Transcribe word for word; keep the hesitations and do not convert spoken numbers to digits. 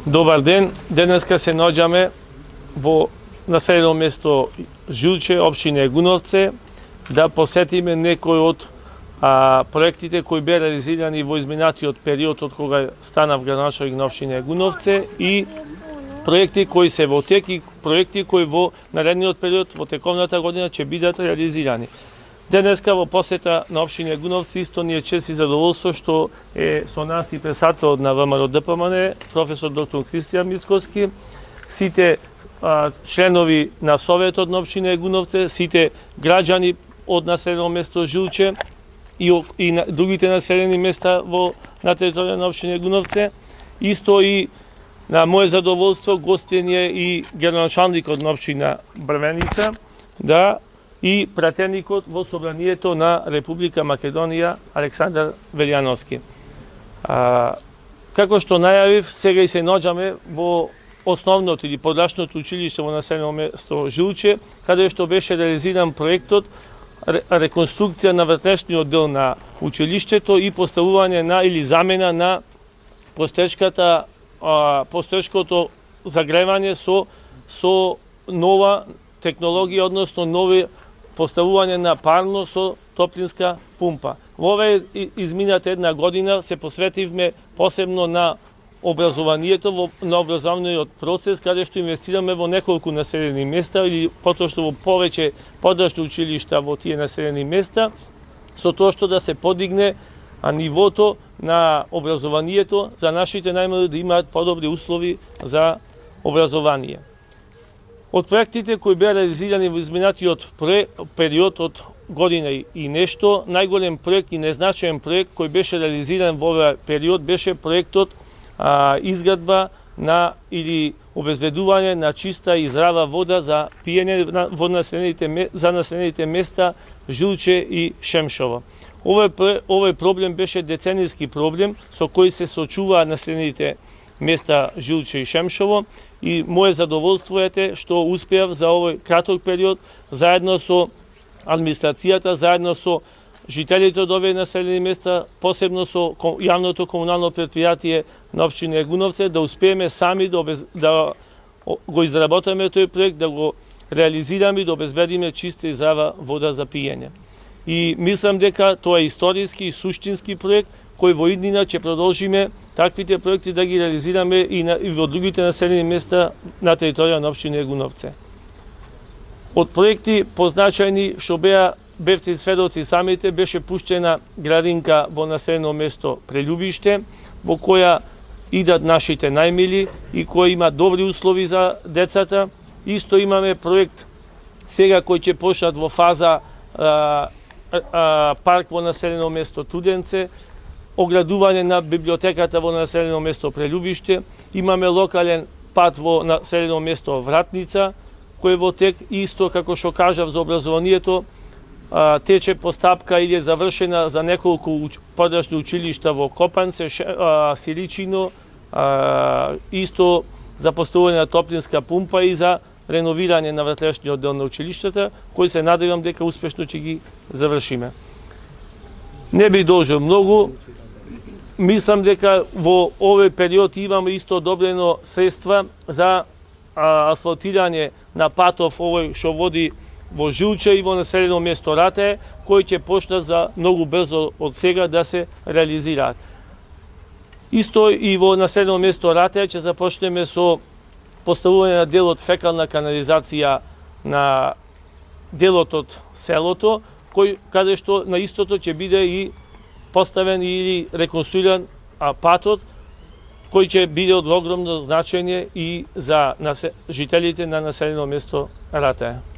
Добар ден, денеска се наоѓаме во населено место Жилче, општина Егуновце, да посетиме некои од а, проектите кои беа реализирани во изминатиот период од кога станав градоначелник на општина Егуновце и проекти кои се во тек и проекти кои во наредниот период во тековната година ќе бидат реализирани. Денеска во посета на општина Егуновци исто ни е чест и задоволство што е со нас и председателот на ВМРО Д П М Н, професор доктор Кристијан Мицкоски, сите а, членови на Советот на општина Егуновце, сите граѓани од населено место Жилче и, и на другите населени места во на територија на општина Егуновце. Исто и на моје задоволство гостен е и градоначалникот на општина Брвеница, да и пратеникот во Собранието на Република Македонија Александар Велјановски. А, како што најавив, сега и се наоѓаме во основното или подрачното училиште во населено место Жилче, каде што беше реализиран проектот реконструкција на вртешниот дел на училиштето и поставување на или замена на постечката постечкото загревање со со нова технологија, односно нови поставување на парно со топлинска пумпа. Во оваа измината една година се посветивме посебно на образованието, во, на образовниот процес, каде што инвестираме во неколку населени места или потоа што во повеќе подрачни училишта во тие населени места, со тоа што да се подигне а нивото на образованието за нашите најмали да имаат подобри услови за образование. Од проектите кои беа реализирани во изминатиот период од година и нешто, најголем проект и незначаен проект кој беше реализиран во овој период беше проектот а, изградба на или обезбедување на чиста и здрава вода за пиење во населените за населените места Жилче и Шемшово. Овој овој проблем беше деценијски проблем со кој се соочуваат населените места Жилче и Шемшово и моје задоволство е што успеав за овој краток период заедно со администрацијата, заедно со жителите од овие населени места, посебно со јавното комунално претпријатие на општина Егуновце, да успееме сами да, обез... да го изработиме тој проект, да го реализираме и да обезбедиме чиста и здрава вода за пиење. И мислам дека тоа е историски и суштински проект кој во иднина ќе продолжиме таквите проекти да ги реализираме и, на, и во другите населени места на територија на општина Егуновце. Од проекти позначајни што беа бевте сведоци самите, беше пуштена градинка во населено место Прелюбиште, во која идат нашите најмили и која има добри услови за децата. Исто имаме проект сега кој ќе почнат во фаза а, а, парк во населено место Туденце, оградување на библиотеката во населено место Прелюбиште, имаме локален пат во населено место Вратница, кој во тек исто како што кажав за образованието, а, тече постапка или е завршена за неколку подрачни училишта во Копанце, а, Сиричино, а, исто за поставување на топлинска пумпа и за реновирање на вртешниот дел на училиштата, кој се надевам дека успешно ќе ги завршиме. Не би должил многу. Мислам дека во овој период имаме исто одобрено средства за а, асфалтирање на патов овој што води во Жилче и во населено место Ратеј, кој ќе почна за многу брзо од сега да се реализираат. Исто и во населено место Ратеј ќе започнеме со поставување на делот фекална канализација на делот од селото, кој каде што на истото ќе биде и поставен или реконструиран а, патот, кој ќе биде од огромно значење и за жителите на населено место Ратеј.